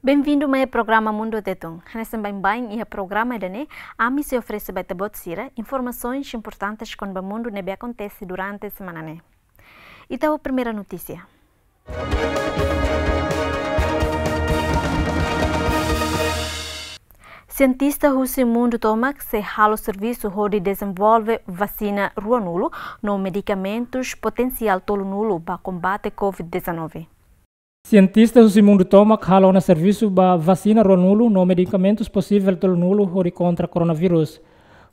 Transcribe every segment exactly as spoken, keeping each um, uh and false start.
Bem-vindo mai programa Mundu Tetun. Hanesan baibain iha programa ida-ne'e, ami sei oferese ba ita-boot sira informasaun importante kona-ba mundu ne'ebé akontese durante semana ne'e. Ita ho primeira notísia. Sientista husi mundu tomak sei halo servisu hodi dezenvolve vasina ruanulu no medikamentus potensiál tolunulu ba kombate covid dezanove. Sientista husi mundu tomak halo ona servisu ba vasina ruanulu no medikamentus posivel tolunulu hodi kontra koronavírus.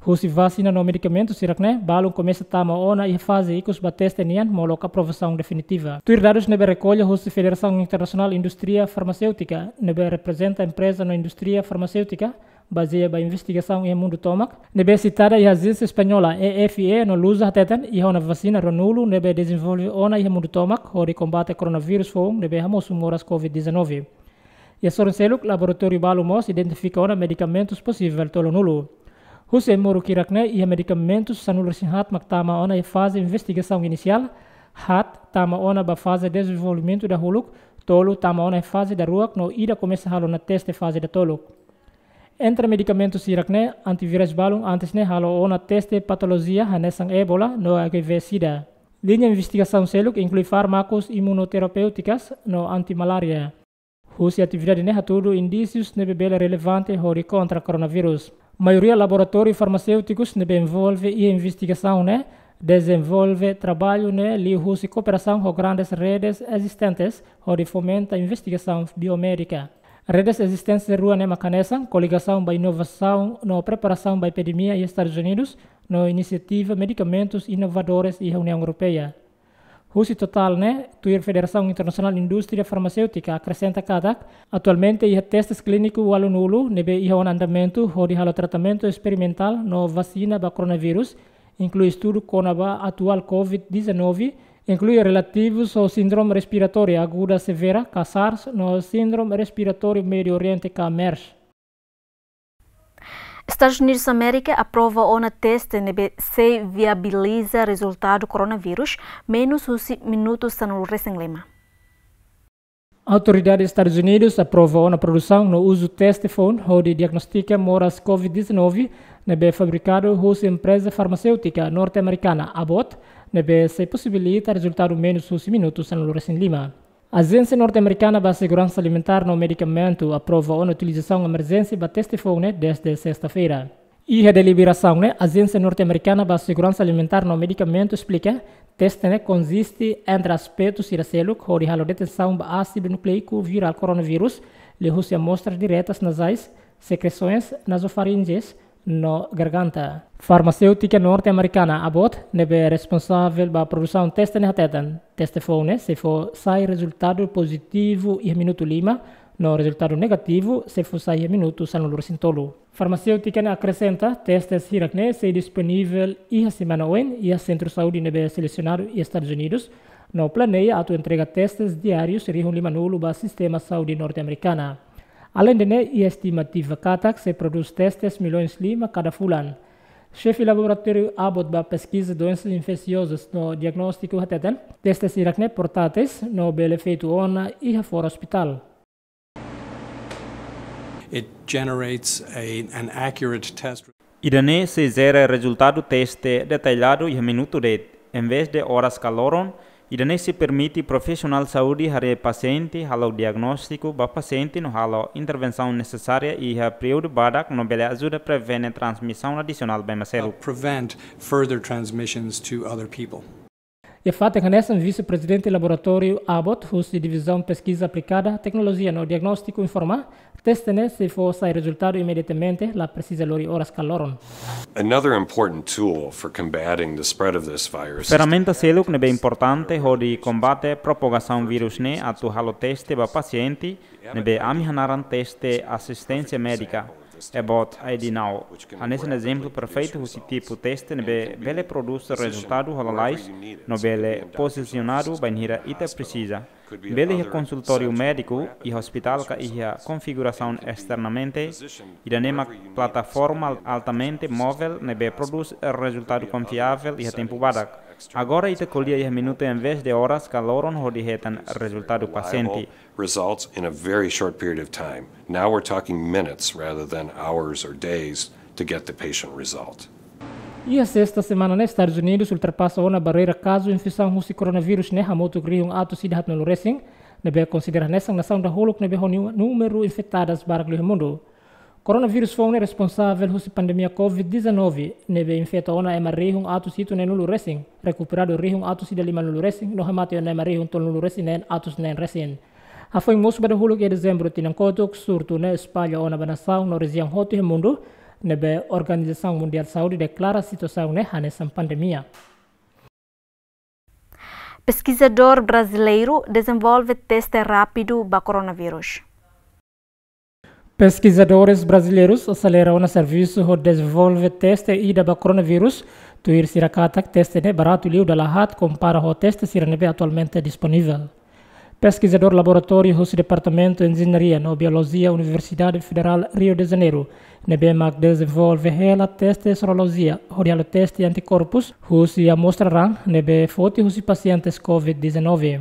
Husi vasina no medikamentus sira-ne'e, balun komesa tama ona iha faze ikus ba teste nian molok aprovasaun definitiva. Tuir dadus ne'ebé rekolla husi Federasaun Internasionál Indústria Farmaséutika, ne'ebé reprezenta empreza no indústria farmaséutika, bazeia ba investigasaun iha mundu tomak, ne'ebé sitada iha ajénsia espanhola E F E no Lusa hateten, iha ona vasina ruanulu ne'ebé dezenvolve ona iha mundu tomak hodi kombate koronavírus foun ne'ebé hamosu moras covid dezanove. Iha sorin seluk, laboratóriu balu mós identifika ona medikamentus posivel tolunulu. Husi ai-moruk hirak-ne'e, iha medikamentus sanulu-resin-haat mak tama ona iha faze investigasaun inisiál, haat tama ona ba faze dezenvolvimentu dahuluk, tolu tama ona iha faze daruak no ida komesa halo ona teste faze datoluk. Entre medikamentus hirak-ne'e, antivirais balun antes ne'e halo ona teste patolojia hanesan ébola no H I V sida. Liña investigasaun seluk inklui fármakus imunoterapéutikas no antimalária. Husi atividade ne'e hatudu indísius ne'ebé bele relevante hodi kontra koronavírus. Maioria laboratóriu farmaséutikus ne'ebé envolve iha investigasaun ne'e dezenvolve traballu ne'e liuhusi kooperasaun ho grandes redes ezistentes hodi fomenta investigasaun biomédika. Redes ezistentes rua ne'e mak hanesan Koligasaun ba Inovasaun no Preparasaun ba Epidemia iha Estadus Unidus no Inisiativa Medikamentus Inovadores iha Uniaun Europeia. Husi totál ne'e, tuir Federasaun Internasionál Indústria Farmaséutika akresenta katak, atualmente iha testes klíniku ualunulu ne'ebé iha ona andamentu hodi halo tratamentu esperimentál no vasina ba koronavírus, inklui estudu kona-ba atuál covid dezanove, inklui relativus ho síndrome respiratória aguda severa ka SARS no síndrome respiratória Médiu Oriente ka MERS. Estadus Unidus Amérika aprova ona teste ne'ebé sei viabiliza rezultadu koronavírus menus husi minutu sanulu-resin-lima. Autoridade Estadus Unidus aprova ona produsaun no uzu teste foun hodi diagnostika moras covid dezanove ne'ebé fabrikadu husi empreza farmaséutika norte-amerikana Abbott, ne'ebé sei posibilita rezultadu menus husi minutu sanulu-resin-lima. Ajénsia Norte-Amerikana ba Seguransa Alimentár no Medikamentu aprova ona utilizasaun emerjénsia ba teste foun ne'e dezde sesta-feira. Iha deliberasaun ne'e, Ajénsia Norte-Amerikana ba Seguransa Alimentár no Medikamentu esplika, teste ne'e konziste entre aspetu sira seluk hodi halo detesaun ba ásidu nukleiku virál koronavírus, liuhusi amostras diretas nazais, sekresoens nazofarinjais, no garganta. Farmaséutika norte-amerikana Abbott, ne'ebé responsavel ba produsaun teste ne'e hateten, teste foun ne'e sei fó sai rezultadu pozitivu iha minutu lima, no rezultadu negativu sei fó sai iha minutu sanulu-resin-tolu. Farmaséutika ne'e akresenta, testes hirak-ne'e sei disponivel iha semana oin iha sentru saúde ne'ebé selesionadu iha Estadus Unidus, no planeia atu entrega testes diárius rihun limanulu ba sistema saúde norte-amerikana. Aleinde ne'e, iha estimativa katak sei prodús testes milhões lima kada fulan. Xefe laboratóriu Abbott ba peskiza doensas infesiozas no diagnóstiku hateten, testes hirak-ne'e portáteis no bele feitu ona iha fora ospitál. It generates a, an accurate test. Ida-ne'e sei jere rezultadu teste detalladu iha minutu de'it, envezde oras ka loron. Ida-ne'e sei permite profisionál saúde haree pasiente, halo diagnóstiku ba pasiente no halo intervensaun nesesária iha períodu badak no bele ajuda prevene transmisaun adisionál ba ema seluk. Prevent further transmissions to other people. Iha fatin hanesan, vise-prezidente laboratóriu Abbott husi Divizaun Peskiza Aplikada, Teknolojia no Diagnóstiku informa, teste ne'e sei fó sai rezultadu imediatamente, la presiza lori oras ka loron. Another important tool for combating the spread of this virus is Ferramenta seluk ne'ebé importante hodi kombate propagasaun vírus ne'e atu halo teste ba pasiente, ne'ebé ami hanaran teste asisténsia médika, Abbott I D Now. Hanesan ezemplu perfeitu husi tipu teste ne'ebé bele prodús rezultadu ho lalais no bele pozisionadu bainhira ita presiza. Bele iha konsultóriu médiku, iha ospitál ka iha konfigurasaun esternamente. Ida-ne'e mak plataforma altamente móvel ne'ebé prodús rezultadu konfiavel iha tempu badak. Agora ita ko'alia iha minutu em vez de oras ka loron hodi hetan rezultadu pasiente. Results in a very short period of time. Now we're talking minutes rather than hours or days to get the patient result. Iha sesta semana ne'e, Estadus Unidus ultrapasa ona barreira kazu infesaun husi koronavírus ne'e hamutuk rihun atus ida haatnulu resin, ne'ebé konsidera hanesan nasaun dahuluk ne'ebé ho nu-, númeru infetadas barak liu iha mundu. Koronavírus foun ne'e responsavel husi pandemia covid dezanove, ne'ebé infeta ona ema rihun atus hitunulu resin, rekuperadu rihun atus ida limanulu resin, no hamate ona ema rihun tolunulu resin neen atus neen resin. Hafoin mosu ba dahuluk iha dezembru tinan kotuk, surtu ne'e espalla ona ba nasaun no rejiaun hotu iha mundu, ne'ebé Organizasaun Mundiál Saúde deklara situasaun ne'e hanesan pandemia. Peskizadór brasileiru dezenvolve teste rápidu ba koronavírus. Peskizadores brasileirus aselera ona servisu hodi dezenvolve teste ida ba koronavírus, tuir sira katak teste ne'e baratu liu dala haat kompara ho teste sira ne'ebé atualmente disponivel. Peskizadór laboratóriu husi Departamentu Enjeñaria no Biolojia Universidade Federal Rio de Janeiro, ne'ebé mak dezenvolve hela teste sorolojia, hodi halo teste antikorpus husi amostra raan ne'ebé foti husi pasientes covid dezanove.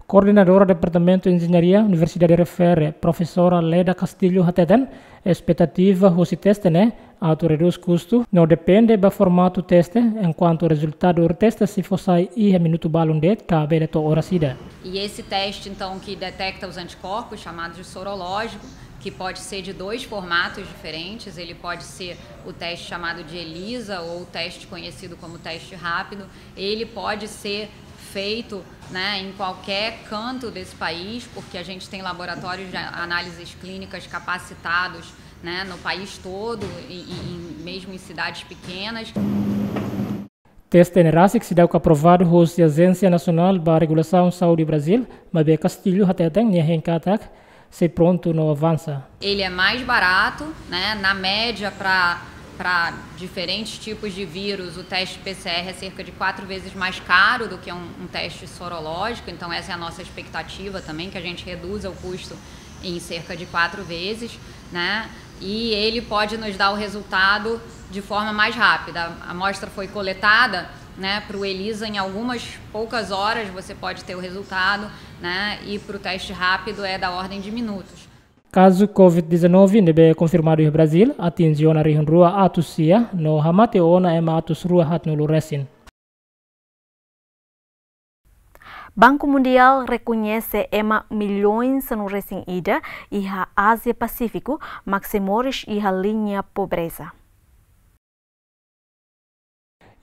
Koordenadora Departamentu Enjeñaria Universidade Refere, Profesora Leda Castilho hateten, espetativa husi teste ne'e atu redús kustu, no depende ba formatu teste, enkuantu rezultadu teste sei fó sai iha minutu balun de'it ka bele to'o oras ida. E esse teste, então, que detecta os anticorpos, chamado de sorológico, que pode ser de dois formatos diferentes, ele pode ser o teste chamado de ELISA ou o teste conhecido como teste rápido, ele pode ser feito, né, em qualquer canto desse país, porque a gente tem laboratórios de análises clínicas capacitados, né, no país todo, e, e, e mesmo em cidades pequenas. Teste ne'e rasik seidauk aprovadu husi Ajénsia Nasionál ba Regulasaun Saúde Brazil, maibé Castilho hateten nia hein katak sei prontu no avansa. Ele é mais barato, né? Na média, pra, pra diferentes tipos de vírus, o teste P C R é cerca de quatro vezes mais caro do que um, um teste sorológico, então essa é a nossa expectativa também, que a gente reduza o custo em cerca de quatro vezes, né? E ele pode nos dar o resultado de forma mais rápida. A amostra foi coletada, né, pro ELISA, em algumas poucas horas você pode ter o resultado, né, e pro teste rápido é da ordem de minutos. Kazu covid dezanove ne'ebé konfirmadu iha Brazil atinje ona rihun rua atus sia, no hamate ona ema atus rua haatnulu resin. Banku Mundiál rekoñese ema milhões sanulu resin ida iha Ázia Pasífiku mak sei moris iha liña pobreza.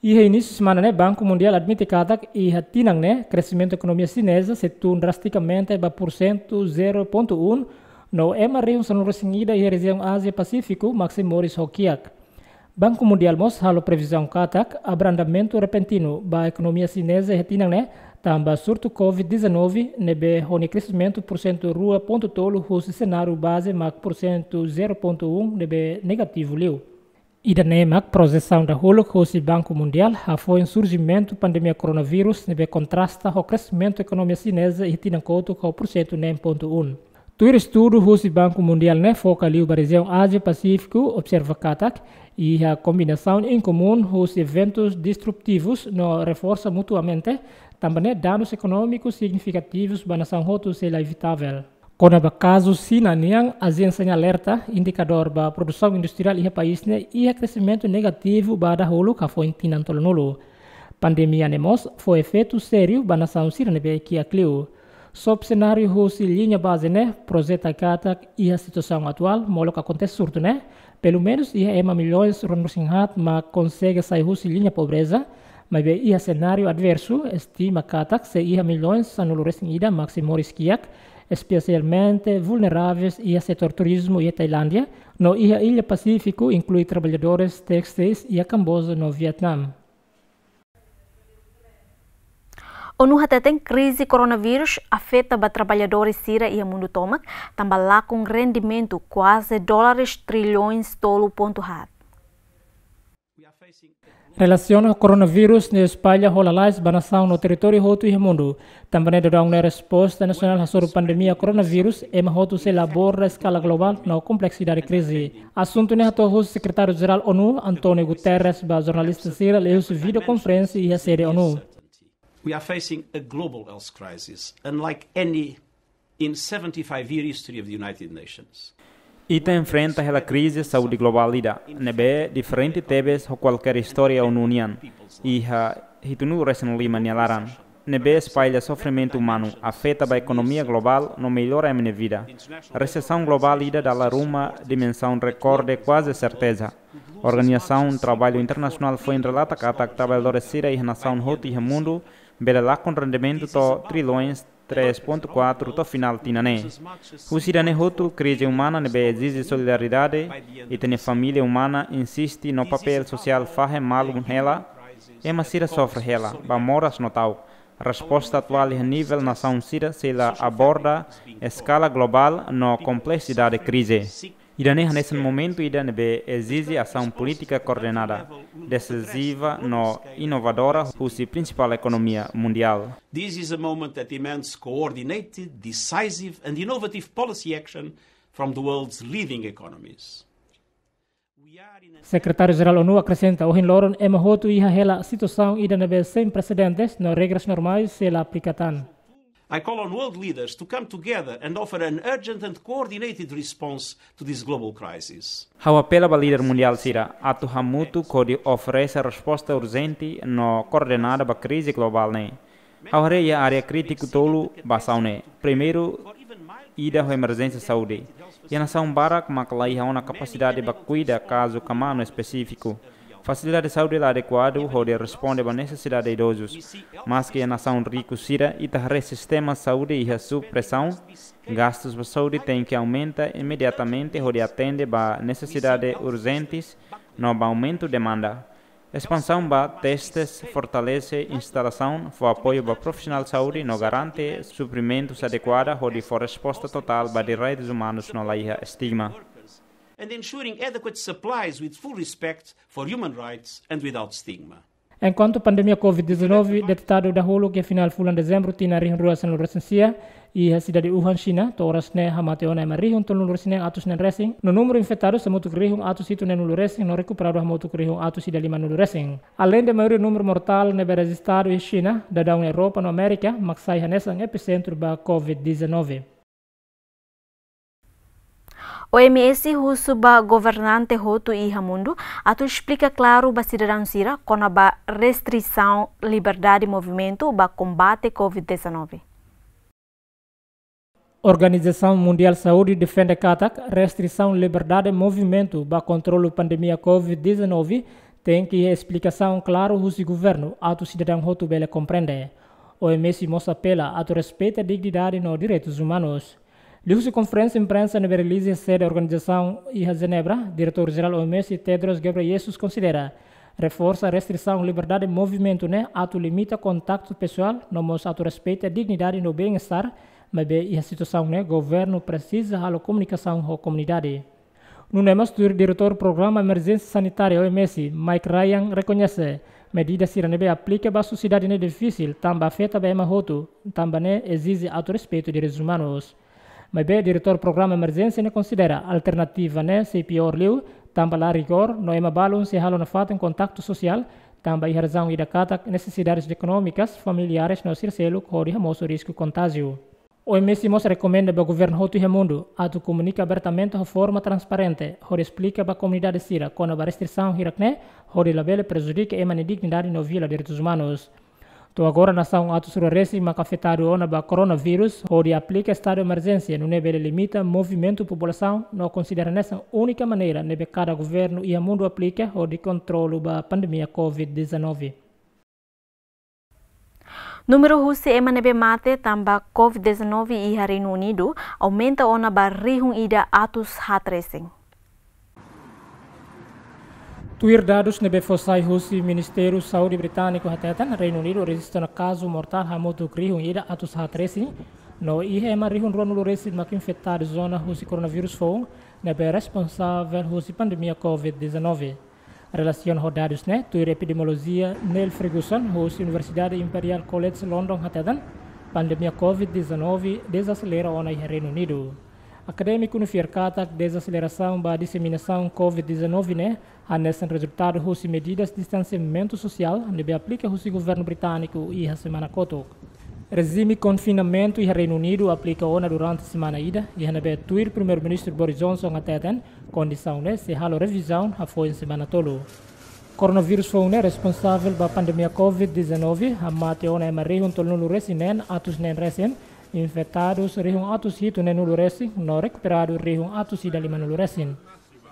Iha inísiu semana ne'e, Banku Mundiál admite katak iha tinan ne'e, kresimentu ekonomia xineza sei tun drastikamente ba pursentu zero pontu um, no ema rihun sanulu resin ida iha rejiaun Ázia Pasífiku mak sei moris ho kiak. Banku Mundiál mós halo previzaun katak abrandamentu repentinu ba ekonomia xineza iha tinan ne'e, tanba surtu covid dezanove ne'ebé ho nia kresimentu pursentu rua pontu tolu husi senáriu baze mak pursentu zero pontu um ne'ebé negativu liu. Ida-ne'e mak projesaun dahuluk husi Banku Mundiál hafoin surjimentu pandemia koronavírus ne'ebé kontrasta ho kresimentu ekonomia xineza iha tinan kotuk ho pursentu neen pontu um. Tuir estudu husi Banku Mundiál ne'e foka liu ba rejiaun Ázia Pasífiku, observa katak iha kombinasaun inkomún husi eventus destrutivus no reforsa mutuamente, tanba ne'e danus ekonómikus signifikativus ba nasaun hotu sei la evitavel. Kona-ba kazu Xina nian, ajénsia ne'e alerta indikadór ba produsaun industriál iha país ne'e iha kresimentu negativu ba dahuluk hafoin tinan tolunulu. Pandemia ne'e mós fó efeitu sériu ba nasaun sira ne'ebé kiak liu. Sob senáriu husi liña baze ne'e projeta katak iha situasaun atuál molok akontese surtu ne'e, pelumenus iha ema milhões ruanulu resin haat mak konsege sai husi liña pobreza, maibé iha senáriu adversu, estima katak sei iha milhões sanulu resin ida mak sei moris kiak, espesialmente vulneravel iha setór turizmu iha Tailándia, no iha illa Pasífiku, inklui traballadores téstil iha Kamboja no Vietname. ONU hateten krize koronavírus afeta ba traballadores sira iha mundu tomak, tanba lakon rendimentu kuaze dólares trilhões tolu pontu haat. Relasiona ho koronavírus ne'e espalla ho lalais ba nasaun no territóriu hotu iha mundu. Tanba ne'e daudaun ne'e resposta nasionál hasoru pandemia koronavírus, ema hotu sei la aborda eskala globál no kompleksidade krize. Asuntu ne'e hato'o husi Sekretáriu Jerál ONU, António Guterres, ba jornalista sira liuhusi vídeo konferénsia iha sede ONU. We are facing a global health crisis, unlike any in seventy-five year history of the United Nations. Ita enfrenta hela krize saúde globál ida, ne'ebé diferente tebes ho kualkér istória ONU nian, iha hitunulu resin lima nia laran. Ne'ebé espalla sofrimentu umanu, afeta ba ekonomia globál no mellora ema nia vida. Resesaun globál ida dala ruma dimensaun rekorde kuaze serteza. Organizasaun Traballu Internasionál foin relata katak traballadór sira iha nasaun hotu iha mundu bele lakon rendimentu to'o trilhões três ponto quatro to'o finál tinan ne'e. Husi ida-ne'e hotu, krize umana ne'ebé ezije solidariedade, ita-nia família umana insiste no papél sosiál fahe malu hela, ema sira sofre hela, ba moras no ta'uk. Resposta atuál iha nivel nasaun sira sei la aborda eskala globál no kompleksidade krize. Ida-ne'e hanesan momentu ida ne'ebé ezije asaun polítika koordenada, desiziva no inovadora husi prinsipál ekonomia mundiál. This is a moment that demands coordinated, decisive and innovative policy action from the world's leading economies. Sekretáriu Jerál ONU akresenta, ohin loron ema hotu iha hela situasaun ida ne'ebé sein presedentes no regras normais sei la aplika tan. I call on world leaders to come together and offer an urgent and coordinated response to this global crisis. Ha'u apela ba líder mundiál sira atu hamutuk hodi oferese resposta urjente no koordenada ba krize globál ne'e. Ha'u haree iha área krítiku tolu ba asaun ne'e. Primeiru, ida ho emerjénsia saúde. Iha nasaun barak mak la iha ona kapasidade ba kuida kazu kmaan no espesífiku. Fasilidade saúde la adekuadu hodi responde ba nesesidade idozus. Maski iha nasaun riku sira, ita haree sistema saúde iha sub presaun, gastus ba saúde tenke aumenta imediatamente hodi atende ba nesesidade urjentes no ba aumentu demanda. Espansaun ba testes, fortalese instalasaun, fó apoiu ba profisionál saúde no garante suprimentus adekuada hodi fó resposta totál ba direitus umanus no la iha estigma. And ensuring adequate supplies with full respect for human rights and without stigma. Enkuantu pandemia covid dezanove detetadu dahuluk iha finál fulan dezembru tinan rihun rua sanulu resin sia, iha sidade Wuhan, Xina, to'o oras ne'e hamate ona ema rihun tolunulu resin neen atus neen resin, no númeru infetadu hamutuk rihun atus hitu neenulu resin, no rekuperadu hamutuk rihun atus ida limanulu resin. Aleinde maioria númeru mortál ne'ebé rejistadu iha Xina, daudaun Europa no Amérika mak sai hanesan episentru ba covid dezanove. OMS husu ba governante hotu iha mundu atu esplika klaru ba sidadaun sira kona-ba restrisaun liberdade movimentu ba kombate covid dezanove. Organizasaun Mundiál Saúde defende katak restrisaun liberdade movimentu ba kontrolu pandemia covid dezanove tenke iha esplikasaun klaru husi governu atu sidadaun hotu bele komprende. OMS mós apela atu respeita dignidade no direitus umanus. Liuhusi konferénsia imprensa ne'ebé realiza iha sede organizasaun iha Jenebra, Diretór Jerál OMS Tedros Ghebreyesus konsidera reforsa restrisaun liberdade movimentu ne'e atu limita kontaktu pesoál, no mós atu respeita dignidade no bem-estar, maibé iha situasaun ne'e governu presiza halo komunikasaun ho komunidade. Nune'e mós tuir Diretór Programa Emerjénsia Sanitária OMS, Mike Ryan, rekoñese medida sira ne'ebé aplika ba sosiedade ne'e difisil, tanba afeta ba ema hotu, tanba ne'e ezije atu respeitu direitus umanus. Maibé Diretór Programa Emerjénsia ne'e konsidera alternativa ne'e sei piór liu, tanba la rigór, no ema balun sei halo nafatin kontaktu sosiál, tanba iha razaun ida katak nesesidades ekonómikas, familiares no sira seluk hodi hamosu risku kontájiu. OMS mós rekomenda ba governu hotu iha mundu atu komunika abertamente ho forma transparente, hodi esplika ba komunidade sira kona-ba restrisaun hirak-ne'e, hodi labele prejudika ema nia dignidade no viola direitus umanus. To'o agora nasaun atus rua resin mak afetadu ona ba koronavírus, hodi aplika estadu emerjénsia nune'e bele limita movimentu populasaun no konsidera hanesan únika maneira ne'ebé kada governu iha mundu aplika hodi kontrolu ba pandemia covid dezanove. Númeru husi ema ne'ebé mate tanba covid dezanove iha Reinu Unidu aumenta ona ba rihun ida atus haat resin. Tuir dadus ne'ebé fó sai husi Ministériu Saúde Britániku, hateten Reinu Unidu rejista ona kazu mortál hamutuk rihun ida atus haat resin, no iha ema rihun ruanulu resin mak infetadu ona husi koronavírus foun ne'ebé responsavel husi pandemia covid dezanove. Relasiona ho dadus ne'e, tuir epidemiolojia Neil Ferguson, husi Universidade Imperial College London hateten, pandemia covid dezanove dezaselera ona iha Reinu Unidu. Akadémiku ne'e fiar katak dezaselerasaun ba diseminasaun covid dezanove ne'e hanesan rezultadu husi medidas distansiamentu sosiál ne'ebé aplika husi governu britániku iha semana kotuk. Rejime konfinamentu iha Reinu Unidu aplika ona durante semana ida, iha ne'ebé tuir Primeiru-Ministru Boris Johnson hateten, kondisaun ne'e sei halo revizaun hafoin semana tolu. Koronavírus foun ne'e responsavel ba pandemia covid dezanove, hamate ona ema rihun tolunulu-resin-neen atus neen resin, infetadus rihun atus hitu neenulu resin, no rekuperadu rihun atus ida limanulu resin.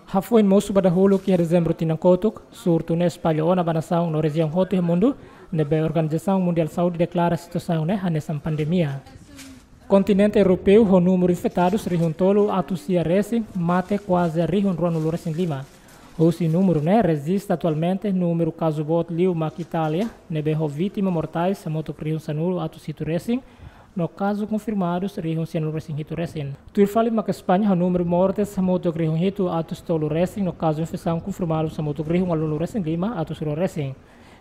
Hafoin mosu ba dahuluk iha Dezembru tinan kotuk, surtu ne'e espalla ona ba nasaun no rejiaun hotu iha mundu, ne'ebé Organizasaun Mundiál Saúde deklara situasaun ne'e hanesan pandemia. Kontinente Europeu ho númeru infetadus rihun tolu atus sia resin, mate kuaze rihun ruanulu-resin-lima. Husi númeru ne'e rejista atualmente númeru kazu boot liu mak Itália, ne'ebé ho vítima mortais hamutuk rihun sanulu atus hitu resin, no kazu konfirmadus rihun sianulu-resin-hitu resin. Tuir fali mak España ho númeru mortes hamutuk rihun hitu atus tolu resin, no kazu infesaun konfirmadus hamutuk rihun ualunulu-resin-lima atus rua resin.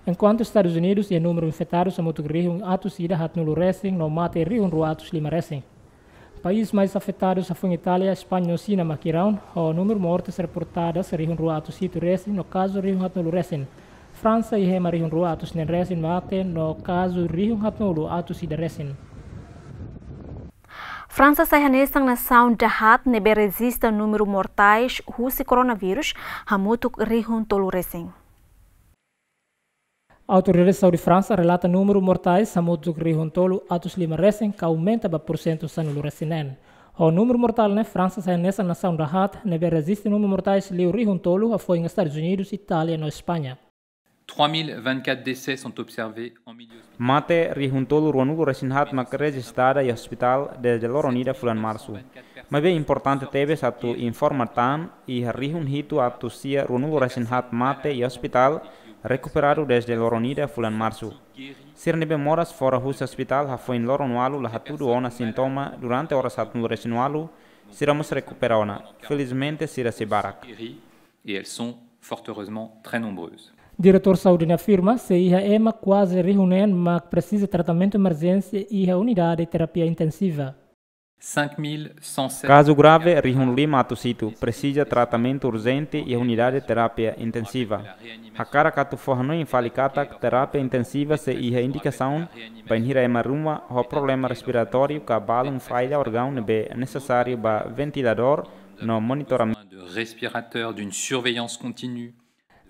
Enkuantu Estadus Unidus iha númeru infetadus hamutuk rihun atus ida haatnulu resin, no mate rihun rua atus lima resin. País mais afetadus hafoin Itália, España no Xina mak Iraun, ho númeru mortes reportadas rihun rua atus hitu resin, no kazu rihun haatnulu resin. Fransa iha ema rihun rua atus neen resin mate, no kazu rihun haatnulu atus ida resin. Fransa sai hanesan nasaun dahaat ne'ebé rejista númeru mortais husi koronavírus hamutuk rihun tolu resin. Autoridade Saúde Fransa relata númeru mortais hamutuk rihun tolu atus lima resin, ka aumenta ba porsentu sanulu-resin-neen. Ho númeru mortál ne'e, Fransa sai hanesan nasaun dahaat ne'ebé rejista númeru mortais liu rihun tolu hafoin Estadus Unidus, Itália no España. Trois mille vingt-quatre décès sont observés en milieu hospitalier. Mate rihun tolu ruanulu-resin-haat mak rejistada iha ospitál dezde loron ida fulan Marsu. Maibé importante tebes atu informa tan, iha rihun hitu atus sia ruanulu-resin-haat mate iha ospitál rekuperadu dezde loron ida fulan Marsu. Sira ne'ebé moras fora husi ospitál hafoin loron ualu la hatudu ona sintoma durante oras haatnulu-resin-ualu, sira mós rekupera ona. Felizmente, sira sei barak. Et elles sont fort heureusement très nombreuses. Diretór Saúde ne'e afirma, sei iha ema kuaze rihun neen mak presiza tratamentu emerjénsia iha unidade terapia intensiva. Cinq mille cent sept Kazu grave rihun lima atus hitu, presiza tratamentu urjente iha unidade terapia intensiva. Hakarak atu fó hanoin fali katak terapia intensiva sei iha indikasaun bainhira ema ruma ho problema respiratóriu ka balun falla órgaun ne'ebé nesesáriu ba ventiladór no monitoramentu. De respirateur, d'une surveillance continue.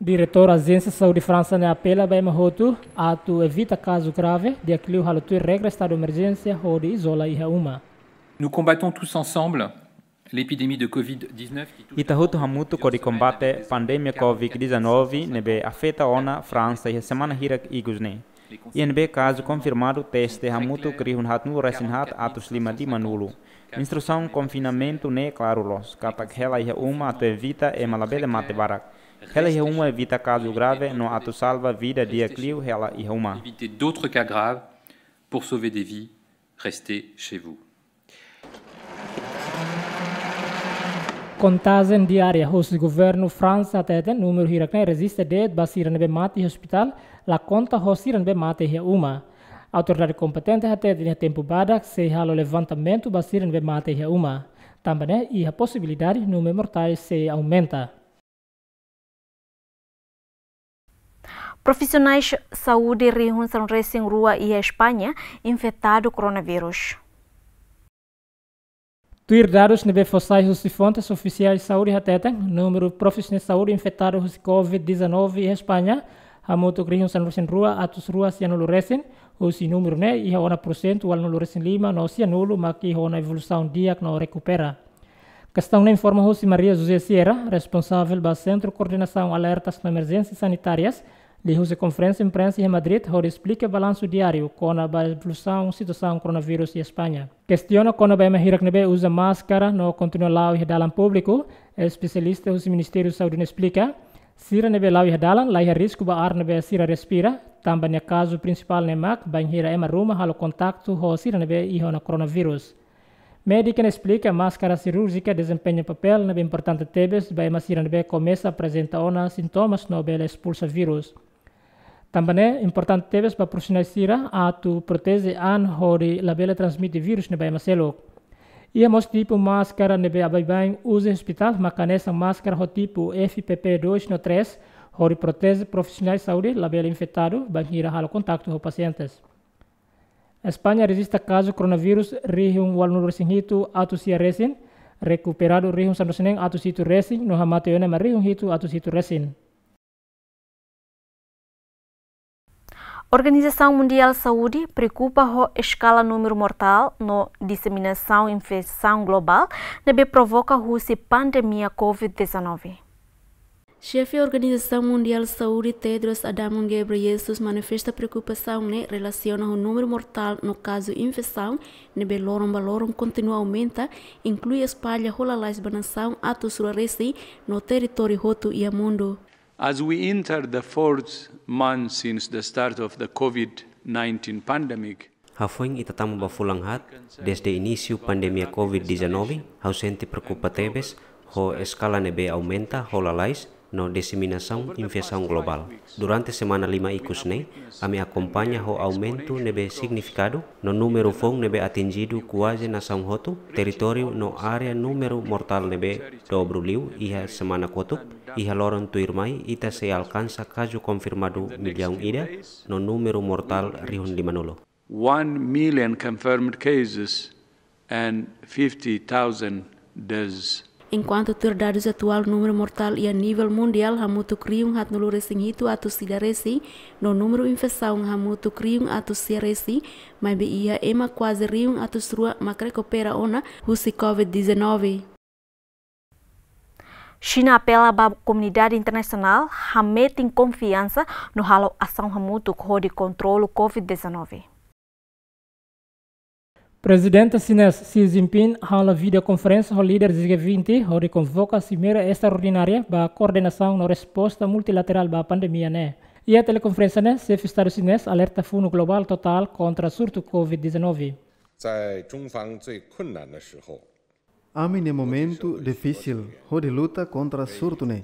Diretór Ajénsia Saúde Fransa ne'e apela ba ema hotu atu evita kazu grave, di'ak liu halo tuir regra estadu emerjénsia hodi izola iha uma. Nous combattons tous ensemble l'épidémie de covid dix-neuf qui touche... Ita hotu hamutuk hodi kombate pandemia covid dezanove ne'ebé afeta ona Fransa iha semana hirak ikus ne'e. Iha ne'ebé kazu konfirmadu teste hamutuk rihun haatnulu-resin-haat atus lima limanulu. Instrusaun konfinamentu ne'e klaru loos, katak hela iha uma atu evita ema labele mate barak. Hela iha uma evita kazu grave no atu salva vida di'ak liu hela iha uma. Éviter d'autres cas graves. Pour sauver des vies, restez chez vous. Kontajen diária husi governu Fransa hateten númeru hirak ne'e rejista de'it ba sira ne'ebé mate iha ospitál, la konta ho sira ne'ebé mate iha uma. Autoridade kompetente hateten iha tempu badak sei halo levantamentu ba sira ne'ebé mate iha uma. Tanba ne'e iha posibilidade númeru mortais sei aumenta. Profisionais saúde rihun sanulu-resin-rua iha España infetadu koronavírus. Tuir dadus ne'ebé fó sai husi fontes ofisiais saúde hateten, númeru profisionais saúde infetadu husi covid dezanove iha España hamutuk rihun sanulu-resin-rua atus rua sianulu resin, husi númeru ne'e iha ona porsentu ualunulu-resin-lima no sianulu mak iha ona evolusaun di'ak no rekupera. Kestaun ne'e informa husi Maria José Sierra, responsavel ba Sentru Koordenasaun Alertas no Emerjénsias Sanitárias, liuhusi konferénsia imprensa iha Madrid, hodi esplika balansu diáriu kona-ba evolusaun situasaun koronavírus iha España. Kestiona kona-ba ema hirak ne'ebé uza máskara no kontinua la'o iha dalan públiku, espesialista husi Ministériu Saúde ne'e esplika, sira ne'ebé la'o iha dalan la iha risku ba ar ne'ebé sira respira, tanba nia kazu prinsipál ne'e mak bainhira ema ruma halo kontaktu ho sira ne'ebé iha ona koronavírus. Médika ne'e esplika máskara sirúrjika dezempeña papél ne'ebé importante tebes ba ema sira ne'ebé komesa aprezenta ona sintomas no bele espulsa vírus. Tanba ne'e importante tebes ba profisionál sira atu proteje an hodi labele transmite vírus ne'e ba ema seluk. Iha mós tipu máskara ne'ebé baibain uza iha ospitál, mak hanesan máskara ho tipu F P P dois no três, hodi proteje profisionál saúde labele infetadu bainhira halo kontaktu ho pasientes. España rejista kazu koronavírus rihun ualunulu resin hitu atus sia resin, rekuperadu rihun sanulu resin neen atus hitu resin, no hamate ona ema rihun hitu atus hitu resin. Organizasaun Mundiál Saúde preokupa ho eskala númeru mortál no diseminasaun infesaun globál ne'ebé provoka husi pandemia covid dezanove. Xefe Organizasaun Mundiál Saúde, Tedros Adhanom Ghebreyesus, manifesta preokupasaun ne'e relasiona ho númeru mortál no kazu infesaun ne'ebé loron ba loron kontinua aumenta, inklui espalla ho lalais ba nasaun atus rua resin no territóriu hotu iha mundu. As we enter the fourth month since the start of the covid nineteen pandemic, Hafoin ita tama ba fulan haat, dezde inísiu pandemia covid dezanove, ha'u sente preokupa tebes ho eskala ne'ebé aumenta ho lalais no diseminasaun infesaun globál. Durante semana lima ikus ne'e, ami akompaña ho aumentu ne'ebé signifikadu no númeru foun ne'ebé atinjidu kuaze nasaun hotu, territóriu no área, númeru mortál ne'ebé dobru liu iha semana kotuk. Iha loron tuirmai ita sei alkansa kazu konfirmadu millaun ida no númeru mortál rihun limanulu. One million confirmed cases and fifty thousand deaths. Enkuantu tuir dadus atuál, númeru mortál iha nivel mundiál hamutuk rihun haatnulu resin hitu atus ida resin, no númeru infesaun hamutuk rihun atus sia resin, maibé iha ema kuaze rihun atus rua mak rekupera ona husi covid dezanove. Xina apela ba komunidade internasionál hametin konfiansa no halo asaun hamutuk hodi kontrolu covid dezanove. Prezidente xinés Xi Jinping hala'o videokonferénsia ho líder G vinte hodi konvoka simeira estraordinária ba koordenasaun no resposta multilaterál ba pandemia ne'e. Iha telekonferénsia ne'e, xefe Estadu xinés alerta funu globál totál kontra surtu covid dezanove. 在中方最困难的时候， Ami-nia momentu difisil hodi luta kontra surtu ne'e.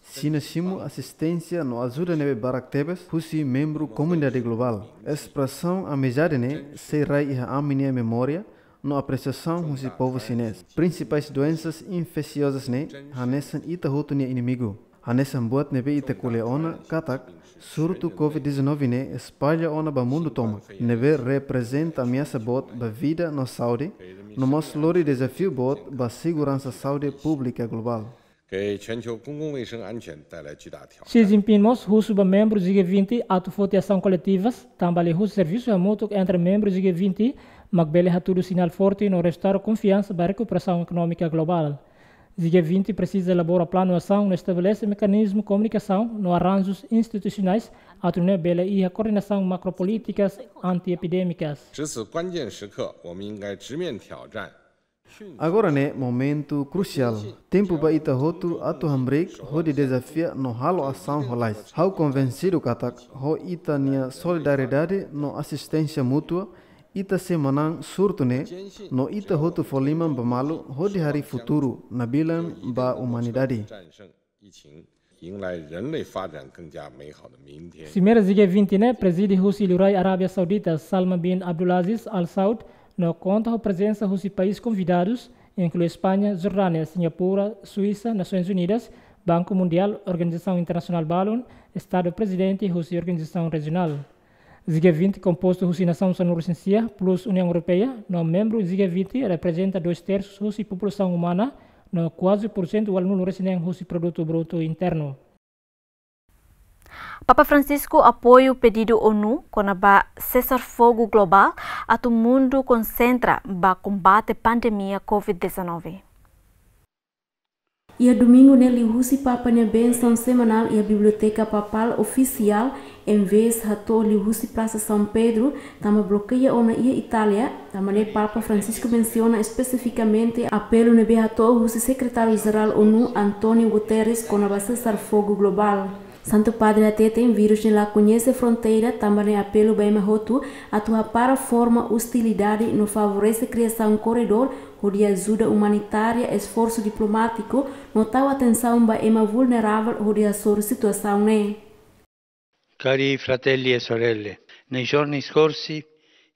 Xina simu asisténsia no ajuda ne'ebé barak tebes husi membru komunidade globál. Espresaun amizade ne'e sei rai iha ami-nia memória no apresiasaun husi povu xinés. Prinsipais doensas infesiozas ne'e hanesan ita hotu nia inimigu. Hanesan buat ne'ebé ita ko'alia ona katak, surtu covid dezanove ne'e espalla ona ba mundu tomak, ne'ebé reprezenta ameasa boot ba vida no saúde, no mós lori dezafiu boot ba seguransa saúde públika globál. 给全球公共卫生安全带来巨大挑战。 Xi Jinping mós husu ba membru G vinte atu foti asaun koletivas, tanba liuhusi servisu hamutuk entre membru G vinte, mak bele hatudu sinál forte no restaura konfiansa ba rekuperasaun ekonómika globál. G vinte presiza elabora planu asaun no estabelese mekanizmu komunikasaun no arranjus institusionais atu nune'e bele iha koordenasaun makropolítikas anti-epidémikas. 值此关键时刻，我们应该直面挑战。 Agora ne'e momentu krusiál. Tempu ba ita hotu atu hamriik hodi dezafia no halo asaun ho lalais. Ha'u konvensidu katak, ho ita-nia solidariedade no asisténsia mútua, ita sei manán surtu ne'e, no ita hotu fó liman ba malu hodi harii futuru nabilan ba umanidade. 疫情，迎来人类发展更加美好的明天。 Simeira G vinte ne'e prezide husi Liurai Arábia Saudita, Salman bin Abdulaziz Al Saud, no konta ho prezensa husi país konvidadus, inklui España, Jordánia, Singapura, Suísa, Nasoins Unidas, Banku Mundiál, organizasaun internasionál balun, Estadu Prezidente husi organizasaun rejionál. G vinte kompostu husi nasaun sanulu resin sia plus Uniaun Europeia, no membru G vinte reprezenta dois tersus husi populasaun umana, no kuaze porsentu ualunulu resin neen husi produtu brutu internu. Papa Francisco apoia pedidu ONU kona-ba sesar-fogu globál atu mundu konsentra ba kombate pandemia covid dezanove. Iha domingu ne'e liuhusi Papa nia bensaun semanál iha Biblioteka Papál ofisiál, envezde hato'o liuhusi Prasa São Pedro, tanba blokeia ona iha Itália, tanba ne'e Papa Francisco mensiona espesifikamente apelu ne'ebé hato'o husi Sekretáriu Jerál ONU António Guterres kona-ba sesar-fogu globál. Santu Padre hateten vírus ne'e la koñese fronteira, tanba ne'e apelu ba ema hotu atu hapara forma ostilidade no favorese kriasaun korredór hodi ajuda umanitária, esforsu diplomátiku no tau atensaun ba ema vulneravel hodi hasoru situasaun ne'e. Cari fratelli e sorelle, nei giorni scorsi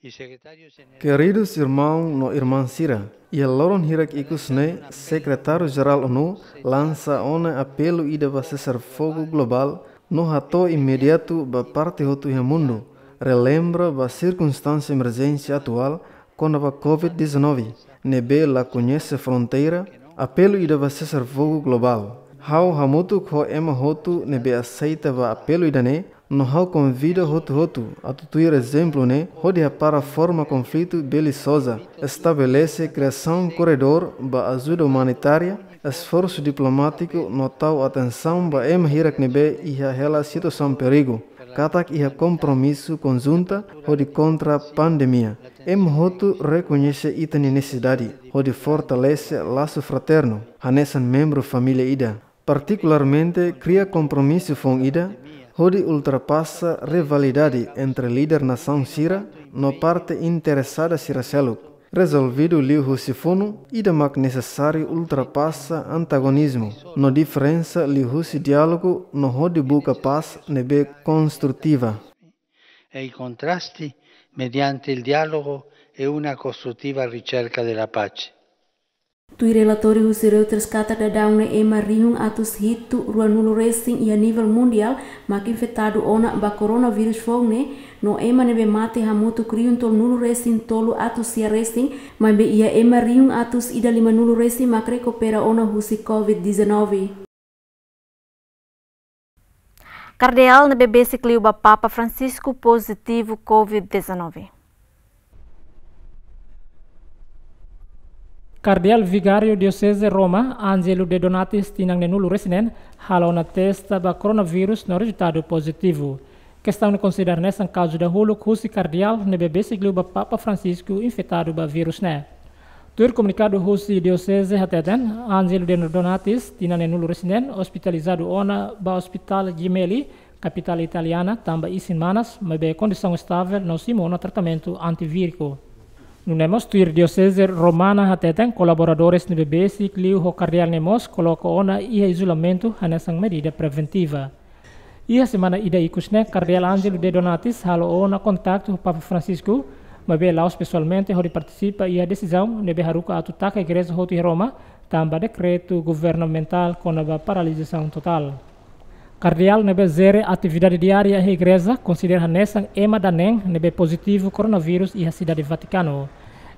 il segretario generale... Keridu irmaun no irmán sira, iha loron hirak ikus ne'e, Sekretáriu-Jerál ONU lansa ona apelu ida ba sesar fogu globál no hato'o imediatu ba parte hotu iha mundu, relembra ba sirkunstánsia emerjénsia atuál kona-ba COVID dezanove, ne'ebé la koñese fronteira, apelu ida ba sesar fogu globál. Ha'u hamutuk ho ema hotu ne'ebé aseita ba apelu ida-ne'e, no ha'u konvida hotu-hotu atu tuir ezemplu ne'e, hodi hapara forma konflitu belizoza, estabelese kriasaun korredór ba ajuda umanitária, esforsu diplomátiku no tau atensaun ba ema hirak ne'ebé iha hela situasaun perigu, katak iha kompromisu konjunta hodi kontra pandemia. Ema hotu rekoñese ita-nia nesesidade hodi fortalese lasu fraternu hanesan membru família ida. Partikularmente, kria kompromisu foun ida hodi ultrapasa rivalidade entre líder nasaun sira no parte interesada sira seluk. Rezolvidu liuhusi funu, ida mak nesesáriu ultrapasa antagonizmu no diferensa liuhusi diálogu no hodi buka pás ne'ebé konstrutiva. E i contrasti mediante il dialogo e una costruttiva ricerca della pace. Tuir relatóriu husi Reuters katak daudaun ne'e ema rihun atus hitu ruanulu resin iha nivel mundiál mak infetadu ona ba koronavírus foun ne'e, no ema ne'ebé mate hamutuk rihun tolunulu resin tolu atus sia resin, maibé iha ema rihun atus ida limanulu resin mak rekupera ona husi COVID dezanove. Kardeál ne'ebé besik liu ba Papa Francisco pozitivu COVID dezanove. Kardeál Vigáriu Dioseze Roma, Ângelo de Donatis, tinan neenulu resin neen, halo ona testa ba koronavírus no rezultadu pozitivu. Kestaun ne'e konsidera hanesan kazu dahuluk husi kardeál ne'ebé besik liu ba Papa Francisco infetadu ba vírus ne'e. Tuir komunikadu husi dioseze hateten, Ângelo de Donatis, tinan neenulu resin neen, ospitalizadu ona ba Ospitál Gemelli, kapitál italiana, tanba isin manas, maibé kondisaun estavel no simu ona tratamentu antivíriku. Nune'e mós tuir dioseze romana hateten, kolaboradores ne'ebé besik liu ho kardeál ne'e mós koloka ona iha izolamentu hanesan medida preventiva. Iha semana ida ikus ne'e, Kardeál Ângelo de Donatis halo ona kontaktu ho Papa Francisco, maibé la'ós pesoalmente hodi partisipa iha desizaun ne'ebé haruka atu taka igreja hotu iha Roma, tanba dekretu governamentál kona-ba paralizasaun totál. Kardeál ne'ebé jere atividade diária iha igreja konsidera hanesan ema da'at neen ne'ebé pozitivu koronavírus iha Sidade Vatikanu.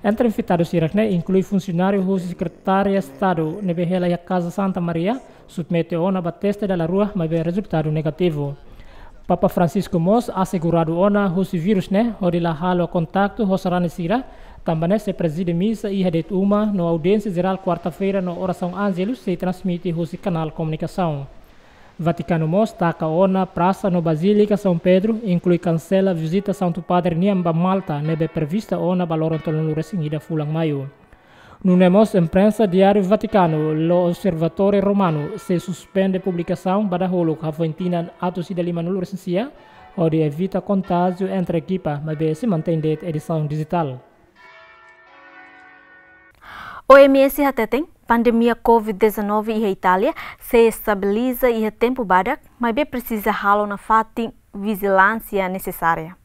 Entre infetadu sira-ne'e inklui funsionáriu husi Sekretária Estadu ne'ebé hela iha Kaza Santa Maria, submete ona ba teste dala rua, maibé rezultadu negativu. Papa Francisco mós aseguradu ona husi vírus ne'e, hodi la halo kontaktu ho sarani sira, tanba ne'e sei prezide misa iha de'it uma no audiénsia jerál kuarta-feira no orasaun Ângelus sei transmite husi kanál komunikasaun. Vatikanu mós taka ona prasa no Bazílika São Pedro, inklui kansela vizita Santu Padre nian ba Malta, ne'ebé prevista ona ba loron tolunulu resin ida fulan Maiu. Nune'e mós imprensa diáriu Vatikanu, L'Osservatore Romano, sei suspende publikasaun ba dahuluk hafoin tinan atus ida limanulu resin sia, hodi evita kontájiu entre ekipa, maibé sei mantein de'it edisaun dijitál. O M S hateten, pandemia COVID dezanove iha Itália sei estabiliza iha tempu badak, maibé presiza halo nafatin vijilánsia nesesária.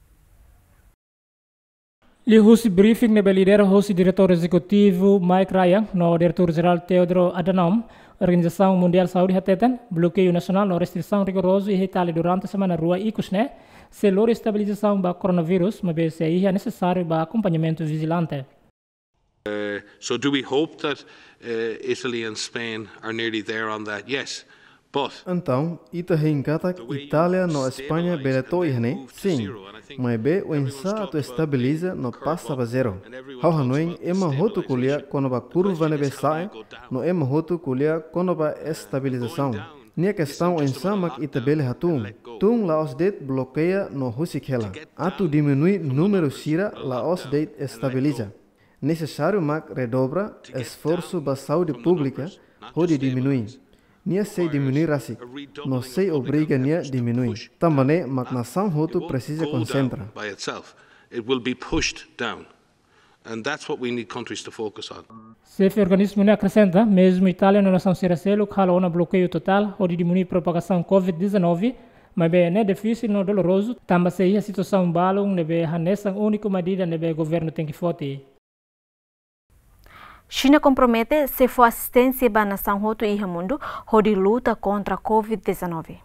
Liuhusi briefing ne'ebé lidera husi Diretór Ezekutivu Mike Ryan no Diretór Jerál Tedros Adhanom, Organizasaun Mundiál Saúde hateten, blokeiu nasionál no restrisaun rigorozu iha Itália durante semana rua ikus ne'e sei lori estabilizasaun ba koronavírus, maibé sei iha nesesáriu ba akompañamentu vijilante. Uh, so do we hope that, uh, Italy and Spain are nearly there on that? Yes. But entaun, ita hein katak Itália no España bele to'o iha ne'e? Sin. Maibé oinsá atu estabiliza no pasa ba zero? Ha'u hanoin ema hotu ko'alia kona-ba kurva ne'ebé sa'e, no ema hotu ko'alia kona-ba estabilizasaun. Nia kestaun oinsá mak ita bele hatún. Tun la'ós de'it blokeia no husik hela. Atu diminui númeru sira la'ós de'it estabiliza. Nesesáriu mak redobra esforsu ba saúde públika hodi diminui. Nia sei diminui rasik, no sei obriga nia diminui. Tanba ne'e mak nasaun hotu presiza konsentra. It will be pushed down. And that's what we need countries to focus on. Xefe organismu ne'e akresenta, mezmu Itália no nasaun sira seluk halo ona blokeiu totál hodi diminui propagasaun COVID dezanove, maibé ne'e difisil no dolorozu, tanba sei iha situasaun balun ne'ebé hanesan úniku medida ne'ebé governu tenke foti. Xina kompromete sei fó asisténsia ba nasaun hotu iha mundu hodi luta kontra COVID dezanove.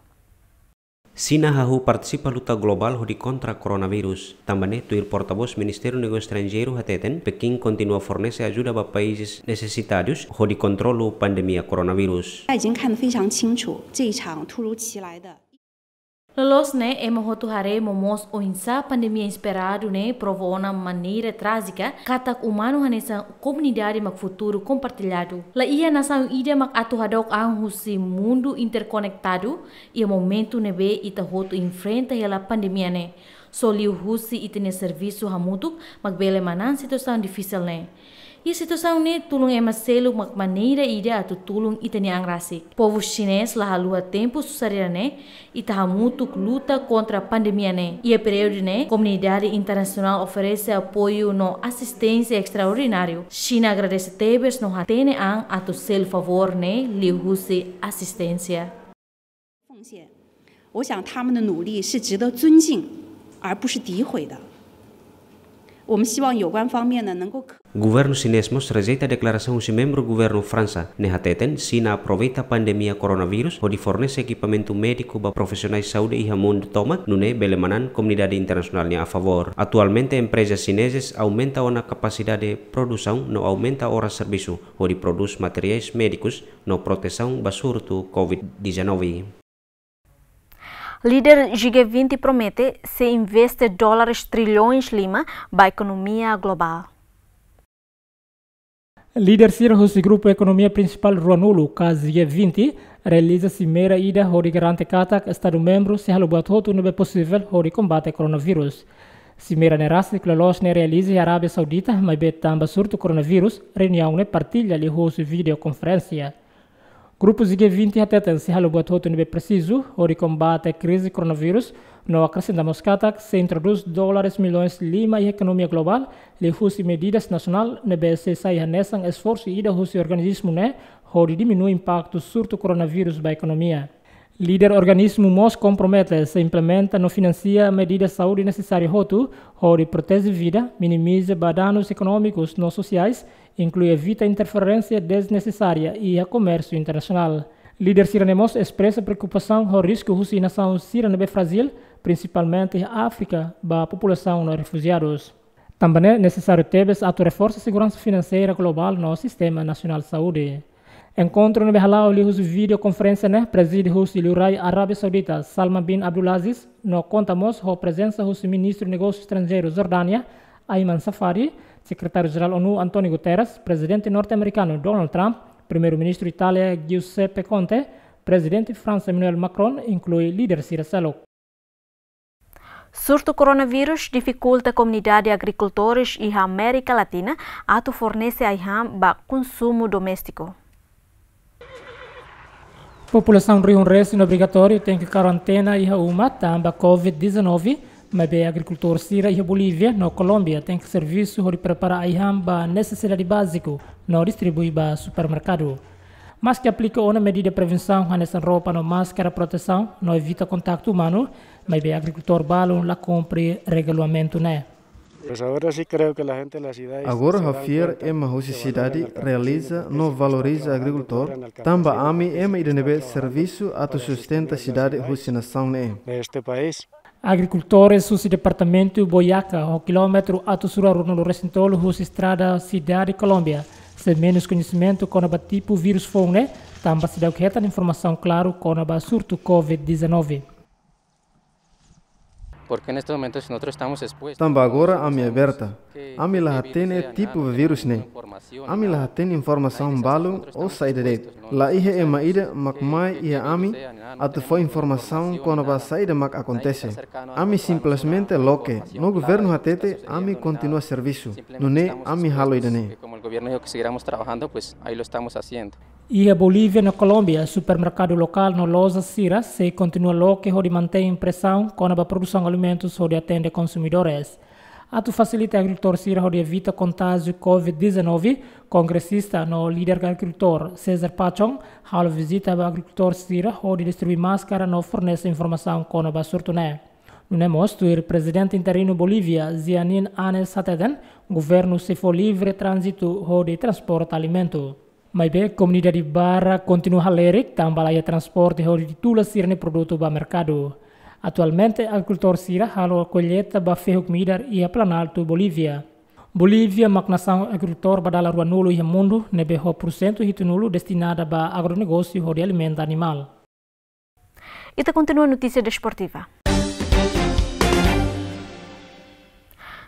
Xina hahú partisipa luta globál hodi kontra koronavírus. Tanba ne'e, tuir portavós Ministériu Negósiu Estranjeiru hateten, Pekin kontinua fornese ajuda ba países nesesitadus hodi kontrolu pandemia koronavírus. 大家已经看得非常清楚，这一场突如其来的 Loloos ne'e, ema hotu haree momoos oinsá pandemia inesperadu ne'e prova ona maneira trájika katak umanu hanesan komunidade mak futuru kompartilladu. La iha nasaun ida mak atu hadook an husi mundu interkonektadu iha momentu ne'ebé ita hotu enfrenta hela pandemia ne'e. Só liuhusi ita-nia servisu hamutuk mak bele manán situasaun difisil ne'e. Iha situasaun ne'e, tulun ema seluk mak maneira ida atu tulun ita-nia an rasik. Povu xinés la haluha tempu susar ida-ne'e, ita hamutuk luta kontra pandemia ne'e. Iha períodu ne'e, komunidade internasionál oferese apoiu no asisténsia estraordináriu. Xina agradese tebes no hatene an atu selu favór ne'e liuhusi asisténsia. 奉献，我想他们的努力是值得尊敬，而不是诋毁的。我们希望有关方面呢，能够可 Governu xinés mós rejeita deklarasaun husi membru governu Fransa, ne'e hateten Xina aproveita pandemia koronavírus hodi fornese ekipamentu médiku ba profisionais saúde iha mundu tomak, nune'e bele manán komunidade internasionál nia afavór. Atualmente, empreza xinezes aumenta ona kapasidade produsaun no aumenta oras servisu hodi prodús materiais médikus no protesaun ba surtu COVID dezanove. Líder G vinte promete sei investe dólares trilhões lima ba ekonomia globál. Líder sira husi grupu ekonomia prinsipál ruanulu, ka G vinte, realiza simeira ida hodi garante katak Estadu membru sei halo buat hotu ne'ebé posivel hodi kombate koronavírus. Simeira ne'e rasik loloos ne'e realiza iha Arábia Saudita, maibé tanba surtu koronavírus, reuniaun ne'e partilla liuhusi videokonferénsia. Grupu G vinte hateten sei halo buat hotu ne'ebé presizu hodi kombate krize koronavírus, no akresenta mós katak sei introdús dólares milhões lima iha ekonomia globál, liuhusi medidas nasionál ne'ebé sei sai hanesan esforsu ida husi organismu ne'e hodi diminui impaktu surtu koronavírus ba ekonomia. Líder organismu mós kompromete sei implementa no finansia medidas saúde nesesáriu hotu hodi proteje vida, minimiza ba danus ekonómikus no sosiais, inklui evita interferénsia desnesesária iha komérsiu internasionál. Líder sira-ne'e mós espresa preokupasaun ho risku husi nasaun sira ne'ebé frájil, prinsipalmente iha Áfrika, ba populasaun no refujiadus. Tanba ne'e nesesáriu tebes atu reforsa seguransa finanseira globál no sistema nasionál saúde. Enkontru ne'ebé hala'o liuhusi videokonferénsia ne'e prezide husi Liurai Arábia Saudita, Salman bin Abdulaziz, no konta mós ho prezensa husi Ministru Negósiu Estranjeiru Jordánia, Ayman Safadi, Sekretáriu Jerál ONU António Guterres, Prezidente norte-amerikanu Donald Trump, Primeiru-Ministru Itália Giuseppe Conte, Prezidente Fransa Emmanuel Macron, inklui líder sira seluk. Surtu koronavírus difikulta komunidade agrikultores iha Amérika Latina atu fornese ai-han ba konsumu doméstiku. Populasaun rihun resin obrigatóriu tenke karantena iha uma tanba COVID dezanove, maibé agrikultór sira iha Bolívia no Kolómbia tenke servisu hodi prepara ai-han ba nesesidade báziku no distribui ba supermerkadu. Maske aplika ona medida prevensaun hanesan roupa no máskara protesaun no evita kontaktu umanu, maibé agrikultór balun la kumpre regulamentu ne'e. Pues ahora sí creo que la gente de la ciudad Agora hau fiar ema husi sidade realiza no valoriza agrikultór, tanba ami ema ida ne'ebé servisu atu sustenta sidade husi nasaun ne'e. De este país. Agrikultores husi departamentu Boyaca, ho kilómetru atus rua ruanulu resin tolu husi estrada sidade Kolómbia, sei menus koñesimentu kona-ba tipu vírus foun ne'e, tanba seidauk hetan informasaun klaru kona-ba surtu COVID dezanove. Porque en estos momentos nosotros estamos expuestos. Tanba agora ami aberta. Ami la hatene tipu vírus ne'e. Ami la hatene informasaun balun ou saida de'it. La iha ema ida mak mai iha ami atu fó informasaun kona-ba saida mak akontese. Ami simplesmente loke. No governu hatete ami kontinua servisu. Nune'e ami halo ida-ne'e. Como el gobierno dijo que siguiéramos trabajando, pues ahí lo estamos haciendo. Iha Bolívia no Kolómbia, supermerkadu lokál no loja sira sei kontinua loke hodi mantein presaun kona-ba produsaun alimentus hodi atende konsumidores. Atu fasilita agrikultór sira hodi evita kontájiu COVID dezanove, kongresista no líder agrikultór César Pachón halo vizita ba agrikultór sira hodi distribui máskara no fornese informasaun kona-ba surtu ne'e. Nune'e mós tuir prezidente interinu Bolívia, Jeanine Áñez hateten, governu sei fó livre tránzitu hodi transporta alimentu. Maibé komunidade barak kontinua halerik tanba la iha transporte hodi tula sira-nia produtu ba merkadu. Atualmente, agrikultór sira halo kolleita ba fehuk midar iha Planalto, Bolívia. Bolívia mak nasaun agrikultór ba dala ruanulu iha mundu, ne'ebé ho porsentu hitunulu destinada ba agronegósiu hodi alimenta animál. Ita kontinua notísia desportiva.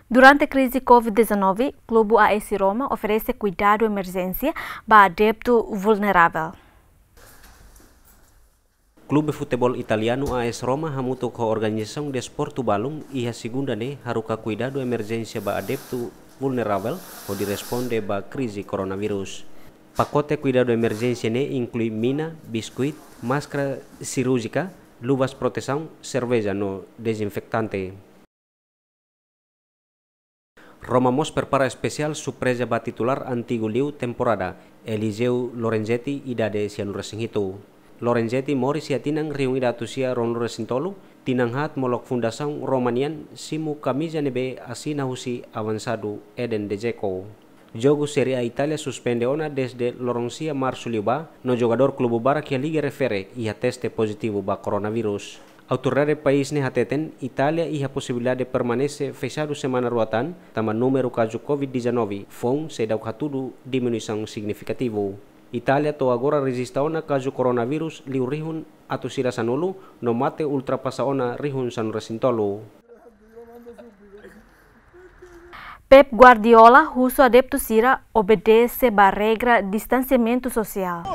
Durante krize COVID dezanove, klube A S Roma oferese kuidadu emerjénsia ba adeptu vulneravel. Klube futeból italianu A S Roma hamutuk ho organizasaun desportu balun iha segunda ne'e haruka kuidadu emerjénsia ba adeptu vulneravel hodi responde ba krize koronavírus. Pakote kuidadu emerjénsia ne'e inklui mina, biskuit, máskara sirúrjika, luvas protesaun, serveja no dezinfetante. Roma mós prepara espesiál surpreza ba titulár antigu liu temporada, Eliseu Lorenzetti, idade sianulu-resin-hitu. Lorenzetti moris iha tinan rihun ida atus sia ruanulu-resin-tolu, tinan haat molok fundasaun Roma nian, simu kamiza ne'ebé asina husi avansadu Edin Dzeko. Jogu Série A Itália suspende ona dezde loron sia Marsu liubá, no jogadór klube barak iha liga refere iha teste pozitivu ba koronavírus. Autoridade país ne'e hateten, Itália iha posibilidade permanese fexadu semana rua tan, tanba númeru kazu COVID dezanove foun seidauk hatudu diminuisaun signifikativu. Itália to'o agora rejista ona kazu koronavírus liu rihun atus ida sanulu, no mate ultrapasa ona rihun sanulu-resin-tolu. Pep Guardiola husu adeptu sira obedese ba regra distansiamentu sosiál.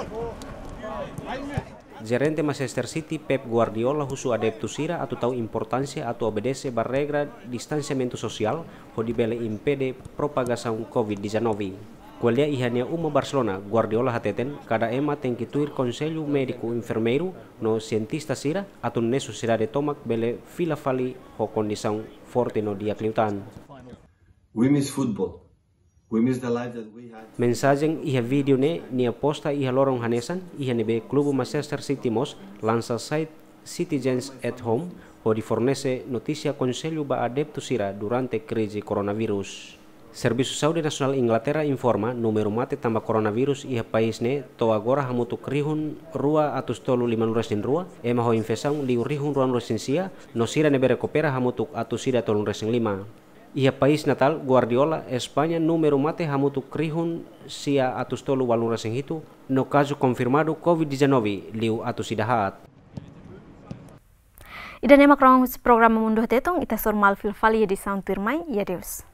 Jerente Manchester City, Pep Guardiola, husu adeptu sira atu tau importánsia atu obedese ba regra distansiamentu sosiál, hodi bele impede propagasaun COVID dezanove. Ko'alia iha nia uma Barcelona, Guardiola hateten, kada ema tenke tuir konsellu médiku, enfermeiru no sientista sira, atu nune'e sosiedade tomak bele fila fali ho kondisaun forte no di'ak liután. We miss football. We miss the life that we had. Mensajen iha vídeo ne'e nia posta iha loron hanesan, iha ne'ebé klube Manchester City mós lansa site Citizens at Home, hodi fornese notísia konsellu ba adeptu sira durante krize koronavírus. Servisu Saúde Nasionál Inglaterra informa, númeru mate tanba koronavírus iha país ne'e to'o agora hamutuk rihun rua atus tolu limanulu-resin-rua, ema ho infesaun liu rihun ruanulu-resin-sia, no sira ne'ebé rekupera hamutuk atus ida tolunulu-resin-lima. Iha país natal Guardiola, España, númeru mate hamutuk rihun sia atus tolu ualunulu-resin-hitu, no kazu konfirmadu COVID dezanove liu atus ida haat. Ida-ne'e mak rohan husi programa Mundu Hatetun, ita hasoru malu fila fali iha edisaun tuirmai, i adeus.